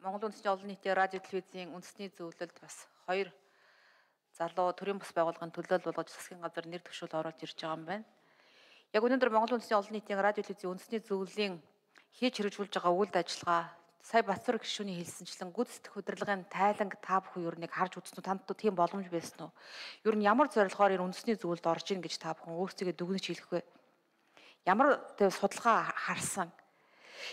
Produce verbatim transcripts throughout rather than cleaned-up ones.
Монгол Үндэсний олон нийтийн радио телевизийн үндэсний зөвлөлд бас хоёр залуу төрийн бас байгууллагын төлөөлөл болгож засгийн газар нэр дэвшүүл оруулж ирж байгаа юм байна. Яг өнөөдөр Монгол Үндэсний олон нийтийн радио телевизийн үндэсний зөвлөлийн хийж хэрэгжүүлж байгаа үйл ажиллагаа сая Батбаяр гишүүний хэлсэнчлэн гүйцэтгэх удирдлагын тайланг та бүхэн юу нэг харж үзсэн үү? Танд тийм боломж байсан уу? Юу нь ямар зорилгоор энэ үндэсний зөвлөлд орж ийн гэж та бүхэн өөрсдөө дүгнэж хэлэх вэ? Ямар төв судалгаа харсан?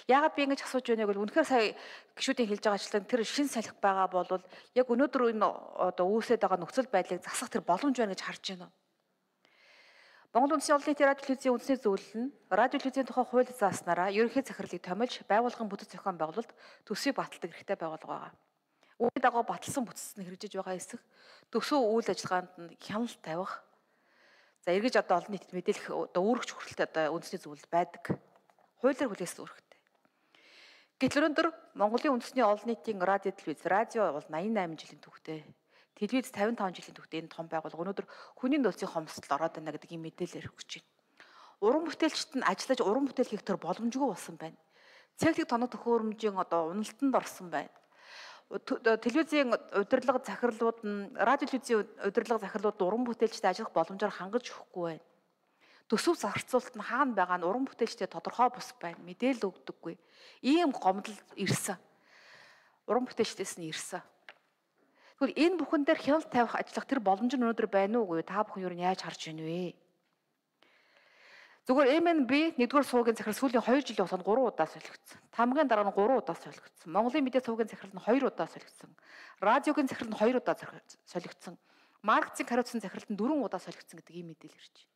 Яагаад би ингэж асууж байгааг бол үнэхээр сая гишүүдийн хэлж байгаачлан тэр шин салхи байгаа бол яг өнөөдөр энэ одоо үүсээд байгаа нөхцөл байдлыг засах тэр боломж байна гэж харж байна уу? Монгол Үндэсний олон нийтийн радио телевизийн үндэсний зөвлөл нь радио телевизийн тухай хууль зааснараа ерөнхий захирлыг томилж байгууллагын бүтэц зохион байгуулалт төсвийг баталдаг хэрэгтэй байгууллага байгаа. Үүний дагуу баталсан бүтцэд нь хэрэгжиж байгаа хэсэг төсөв үйл ажиллагаанд нь хяналт тавих. За эргэж одоо олон нийтэд мэдээлэх одоо үүрэгч хүрэлт одоо үндэсний зөвлөл байдаг. Хуулиар хүлээсэн үүрэгтэй. Гэтэл өнөөдөр Монголын үндэсний олон нийтийн радио телевиз радио бол восемьдесят восемь жилийн түүхтэй. Телевиз пятьдесят пять жилийн түүхтэй энэ том байгууллага өнөөдөр хүний нөөцийн хомсдолд ороод байна гэдэг ийм мэдээлэл өгч байна. Уран бүтээлчд нь ажиллаж уран бүтээл хийх төр боломжгүй болсон байна. Цэгцэг тоног төхөөрөмжийн одоо уналтанд орсон байна. Телевизийн удирдлага захирлууд нь радио телевизийн удирдлага захирлууд уран бүтээлчдэд ажиллах боломжоор хангаж өгөхгүй байна. Төсөв зарцуулалт нь хаана байгаа нь уран бүтээлчдэд тодорхой бус байна. Мэдээлэл өгдөггүй. Ийм гомдол ирсэн. Уран бүтээлчдээс нь ирсэн. Тэгвэл энэ бүхэн дээр хяналт тавих ажиллах тэр боломж нь өнөөдөр байна уугүй та бүхэн юу яаж харж байна вэ? Зүгээр эм эн би нэгдүгээр суугийн захирал сүүлийн хоёр жилийн хугацаанд гурван удаа солигдсон. Тамгын дараа нь гурван удаа солигдсон. Монголын мэдээ суугийн захирал нь хоёр удаа солигдсон. Радиогийн захирал нь хоёр удаа солигдсон. Маркетинг хариуцсан захиралд нь дөрвөн удаа солигдсон гэдэг ийм мэдээлэл ирж байна.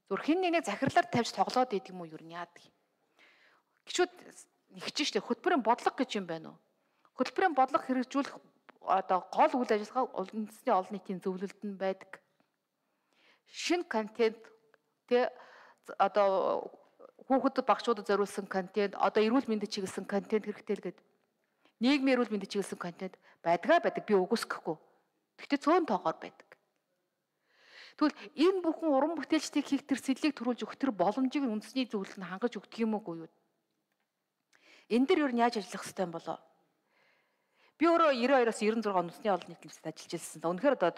Зүр хин нэг захирлаар тавьж тоглоод идэг юм уу юу яадаг юм. Гişүүд нэгч штэ хөтөлбөрийн бодлого гэж юм байна уу? Хөтөлбөрийн бодлого хэрэгжүүлэх одоо гол үйл ажиллагаа үндэсний олон нийтийн зөвлөлд нь байдаг. Шинэ контент тэ одоо хүүхэд багшуудад зориулсан контент, одоо эрүүл мэндэд чиглэсэн контент хэрэгтэй л гэдэг. Нийгмийн эрүүл мэндэд чиглэсэн контент байдгаа байдаг би үгүйсэхгүй. Гэхдээ цөөн тоогоор байдаг. Тэгвэл энэ бүхэн уран бүтээлчдийг хийх тэр сэдлийг төрүүлж өгөх тэр боломжийг үндэсний зөвлөл нь хангаж өгдөг юм уу юу? Энэ дэр юу яаж ажиллах хэрэгтэй юм болоо? Би өөрөө девяносто two-оос девяносто six үндэсний олон нийтийн хэлбэрт ажиллаж ирсэн. Үнэхээр одоо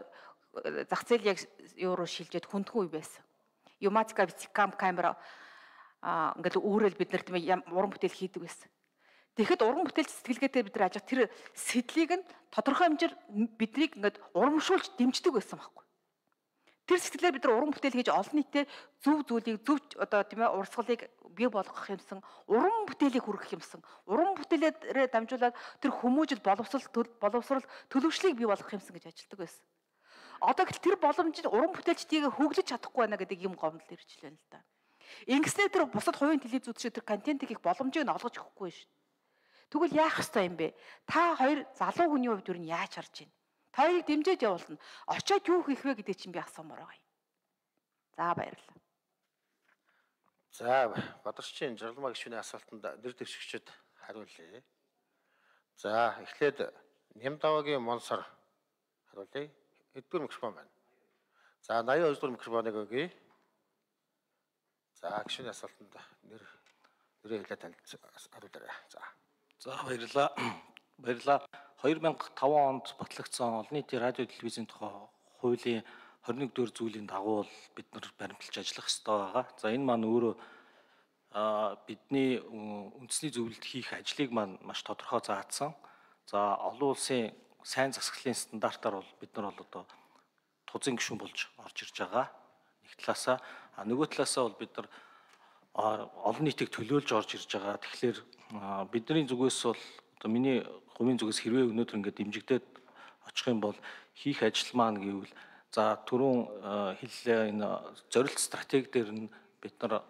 зах зээл яг евро шилжээд хүндгүй байсан. Юматика вицкам камера аа ингээд үүрэл бид нарт уран бүтээл хийдэг байсан. Тэгэхэд уран бүтээлч сэтгэлгээтэй бид нар ажиг тэр сэдлийг нь тодорхой хэмжээр биднийг ингээд урамшуулж дэмждэг байсан байхгүй. Тэр сэтгэлээр бид нар уран бүтээл хийж олон нийтэд зөв зүйлийг зөв одоо тийм ээ урсгалыг бий болгох юмсан уран бүтээлийг хүргэх юмсан уран бүтээлээрээ дамжуулаад тэр хүмүүжил боловсрал боловсрал төлөвшлийг бий болгох юмсан гэж ажилтдаг байсан. Одоо гэхэл тэр боломжийг уран бүтээлчдийг хөглөж чадахгүй байна гэдэг юм гомдол ирж байна л да. Ингэснээр тэр бусад хувийн телевизүүд шиг тэр контентыг их боломжийг нь олгож өгөхгүй шүү. Тэгвэл яах ёстой юм бэ? Та хоёр залуу хүний хувьд юу нь яаж харж байна? Та хоёрыг дэмжиж явуулна. Очоод юу хийх вэ гэдэг чинь би асуумаар байгаа юм. За баярлалаа. За Бадарчин Жаргалмаа гишүүний асуултанд нэр дэвшигчид хариулъя. За эхлээд Нямдавагийн Монсор хариулъя. Эдгээр микрофон байна. За eighty-two дугаар микрофоныг өгье. За гишүүний асуултанд нэр нэрээ хэлээд хариулаарай. За. За баярлалаа. Баярлалаа. two thousand five онд батлагдсан олон нийтийн радио телевизийн тухай хуулийн twenty-one дугаар зүйлийн дагуу бид нар баримталж ажиллах хэрэгтэй байгаа. За энэ маань өөрөө бидний үндэсний зөвлөлд хийх ажлыг маань маш тодорхой заасан. За олон улсын сайн засаглалын стандартаар бол бид нар бол одоо тузын гишүүн болж орж ирж байгаа. Нэг талаасаа а нөгөө талаасаа бол бид нар олон нийтийг төлөөлж орж ирж байгаа. Тэгэхээр бидний зүгээс бол одоо миний хувийн зүгээс хэрвээ өнөөдөр ингээд дэмжигдээд очих юм бол хийх ажил маань гэвэл за түрүүн хэллээ энэ зорилт стратеги дээр нь бид нар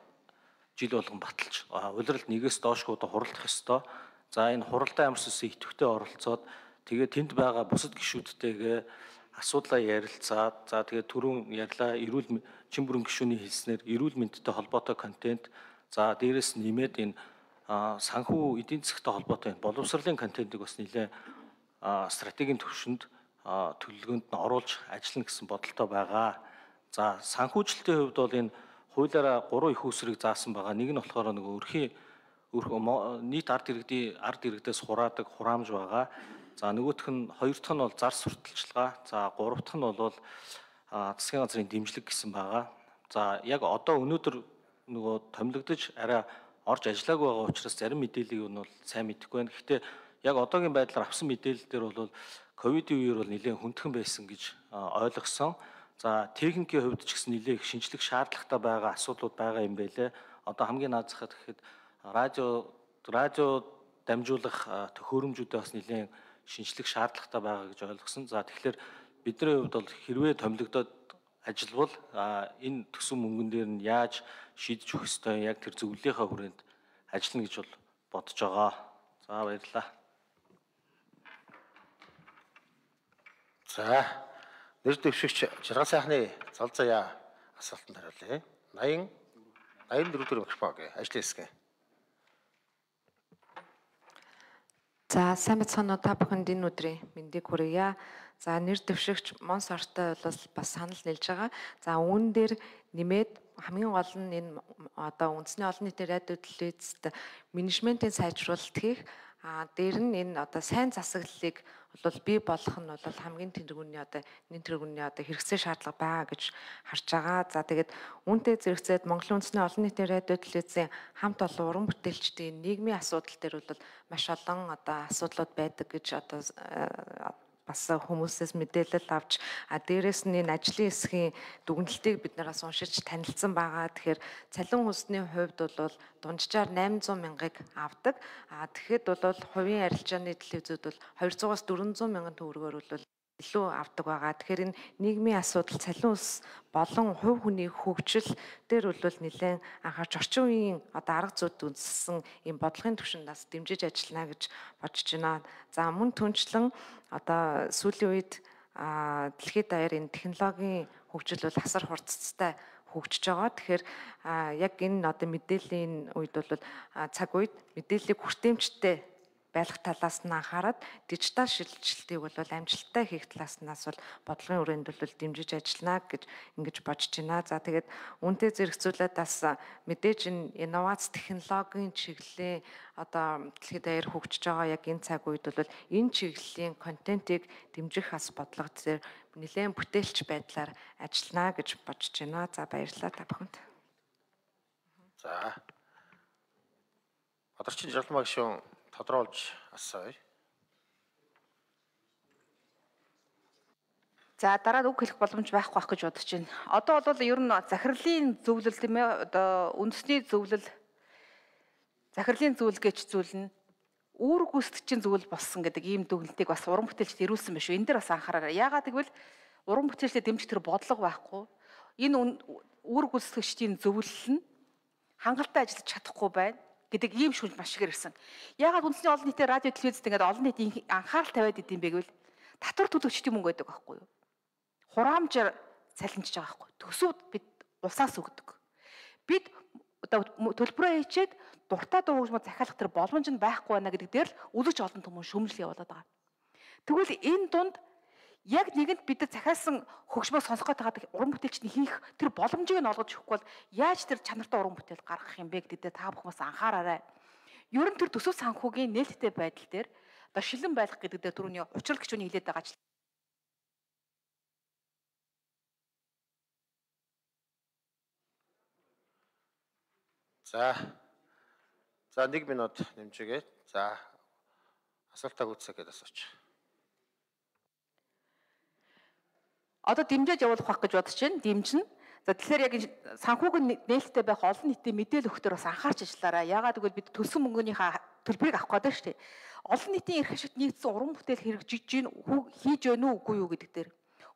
жил болгон баталж улиралд нэгээс доошгүй одоо хуралдах ёстой. За энэ хуралдаан ямар сүсээ идэвхтэй оролцоод тэгээ тэнд байгаа бусад гишүүдтэйгээ асуудлаа ярилцаад за тэгээ түрүүн ярьлаа эрүүл чин бүрэн гишүүний хэлснээр эрүүл мэндтэй холбоотой контент за дээрэс нэмээд энэ санхүү эдийн засгийн холбоотой боловсролын контентыг бас нэлээ стратегийн төвшөнд төлөвлөгөөнд нь оруулж ажиллана гэсэн бодолтой байгаа. За санхүүжилтийн хувьд бол энэ хуулиараа гурван их үүсвэрийг заасан байгаа. Нэг нь болохоор нөгөө өрхийн нийт ард иргэдийн ард иргэдээс хураадаг хураамж байгаа. За нөгөөх нь хоёр дахь нь бол зар сурталчилгаа. За гурав дахь нь бол засгийн газрын дэмжлэг гэсэн байгаа. За яг одоо өнөөдөр нөгөө томилогдож арай орж ажиллаагүй байгаа учраас зарим мэдээллийг нь бол сайн мэдэхгүй байна. Гэхдээ яг одоогийн байдлаар авсан мэдээлэл дээр бол ковидын үеэр бол нэлээд хүндхэн байсан гэж ойлгосон. За техникийн хувьд ч гэсэн нэлээд их шинжлэх шаардлагатай байгаа асуудлууд байгаа юм байлээ. Одоо хамгийн наазахад гэхэд радио радио дамжуулах төхөөрөмжүүдээ бас нэлээд шинжлэх шаардлагатай байгаа гэж ойлгосон. За тэгэхээр бидний хувьд бол хэрвээ томилогдоод ажилбал энэ төсөв мөнгөн дээр нь яаж шийдэж өгөх ёстой, яг тэр зөвлөлийнхаа хүрээнд ажиллана гэж бол бодож байгаа. За баярлалаа. За нэр дэвшигч жаргал сайхны зал заяа асуултанд хариулъя. восемь восемь дөрөв микрофон гээ ажлын хэсэг. За сайн бацхан та бүхэнд энэ өдрийн мэндийг хүргье. За нэр дэвшигч Монс ортой бол бас санал нийлж байгаа. За үүн дээр нэмээд хамгийн гол нь энэ одоо үндэсний олон нийтийн радио телевизэд менежментийн сайжруулалт хийх, а дээр нь энэ одоо сайн засаглалыг бол бий болох нь бол хамгийн тэнэргүүний одоо нэн тэргүүний одоо хэрэгцээ шаардлага байгаа гэж харж байгаа. За тэгээд үүнтэй зэрэгцээд Монголын үндэсний олон нийтийн радио телевизийн хамт олон уран бүтээлчдийн нийгмийн асуудал дээр бол маш олон одоо асуудлууд байдаг гэж одоо бас хүмүүсээс мэдээлэл авч, а дээрэс нь энэ ажлын хэсгийн дүгнэлтийг бид нараас уншиж танилцсан байгаа. Тэгэхээр цалин хүнсний хувьд бол дунджаар восемь зуун мянгаыг авдаг. А тэгэхэд бол хувийн арилжааны телевизүүд бол двухсад-аас дөрвөнзуун мянган төгрөгөөр бол илүү авдаг байгаа. Тэгэхээр энэ нийгмийн асуудал, цалин хүнс болон хувь хүний хөгжил дээр бол нэлээд анхаарч орчин үеийн одоо арга зүйд үндэслэн ийм бодлогын түвшиндээс дэмжиж ажиллана гэж бодож байна. За мөн түнчлэн одоо сүүлийн үед дэлхийд даяар энэ технологийн хөгжил бол асар хурцтай хөгжиж байгаа. Тэгэхээр яг энэ одоо мэдээллийн үед бол цаг үед мэдээллийг хүртээмжтэй байлгах талаас нь анхаарад дижитал шилжилтийг бол амжилттай хийх талааснаас бол бодлогын хүрээнд бол дэмжиж ажиллана гэж ингэж бодож байна. За тэгээд үүнтэй зэрэгцүүлээд бас мэдээж энэ инновац технологийн чиглэлийн одоо дэлхийд даяар хөгжиж байгаа яг энэ цаг үед бол энэ чиглэлийн контентийг дэмжих бас бодлого дээр нэлээд бүтээлч байдлаар ажиллана гэж бодож байна. За баярлалаа та бүхэнд. За. Бадарчин Жаргалмаа гишүүн тодруулж асууя. За дараа нь үг хэлэх боломж байхгүй байх гэж бодож байна. Одоо бол ер нь захирлын зөвлөл тийм ээ одоо үндэсний зөвлөл захирлын зөвлөл гэж зүйл нь үүрэг гүйцэтгэгчийн зөвлөл болсон гэдэг ийм дүгнэлтийг бас уран бүтээлчд ирүүлсэн байна шүү. Энэ дээр бас анхаараарай. Яагаад гэвэл уран бүтээлчдэд дэмжих тэр бодлого байхгүй. Энэ үүрэг гүйцэтгэгчдийн зөвлөл нь хангалттай ажиллаж чадахгүй байна гэдэг ийм шүнж маш ихээр ирсэн. Яагаад үндэсний олон нийтийн радио телевизэд ингээд олон нийтийн анхаарал тавиад идэм бэ гэвэл татвар төлөгчдийн мөнгө байдаг байхгүй юу? Хураамжаар цалинжиж байгаа байхгүй. Төсөвд бид улсаас өгдөг. Бид одоо төлбөрөө хийчээд дуртай дуу хөгжмөд захиалах тэр боломж нь байхгүй байна гэдэг дээр л үлгэж олон хүмүүс шөмжлөл явуулаад байгаа. Тэгвэл энэ дунд яг нэгэнд бид захиалсан хөгжмөө сонсох гэдэг уран бүтээлчний хийх тэр боломжийг нь олгож өгөхгүй бол яаж тэр чанартай уран бүтээл гаргах юм бэ гэдэг та бүхэн бас анхаараарай. Ер нь тэр төсөв санхүүгийн нээлттэй байдал дээр одоо шилэн байлгах гэдэг дээр түрүүний учрал гишүүний хэлээд байгаа ажил. За. За нэг минут нэмжээгээд. За асуултаа гүйцээх гэдээ асууч. Одоо дэмжиж явуулах байх гэж бодож байна. Дэмжин. За тэгэхээр яг санхүүгийн нээлттэй байх олон нийтийн мэдээлэл өгөхдөр бас анхаарч ажиллаарай. Яагаад гэвэл бид төлсөн мөнгөнийхөө төлбөрийг авах гэдэг шүү дээ. Олон нийтийн эрх ашигт нэгдсэн уран бүтээл хэрэгжиж гин хийж байна уу үгүй юу гэдэг дээр.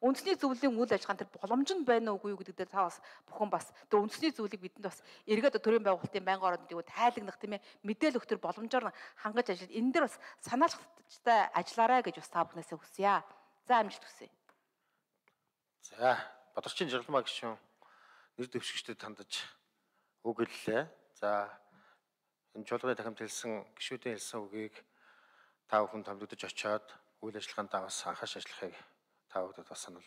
Үндэсний зөвлөлийн үйл ажиллагаанд тэр боломж нь байна уу үгүй юу гэдэг дээр та бас бүхэн бас тэр үндэсний зөвлөлийг бидэнд бас эргээд төрийн байгуулалтын байнгын ороонд тайлагнах тийм ээ мэдээлэл өгөх тэр боломжоор хангаж ажиллаад энэ дээр бас санаачтай ажиллаарай гэж бас та бүхнээсээ хүсье. За амжилт хүсье. За Бадарчин Жаргалмаа гишүүн нэр дэвшигчдэд хандаж үг хэллээ. За энэ жолооны тахимд хэлсэн гишүүдийн хэлсэн үгийг та бүхэн томдогдож очиод үйл ажиллагаанд бас анхаарч ажиллахыг та бүхэнд бас сануулъя.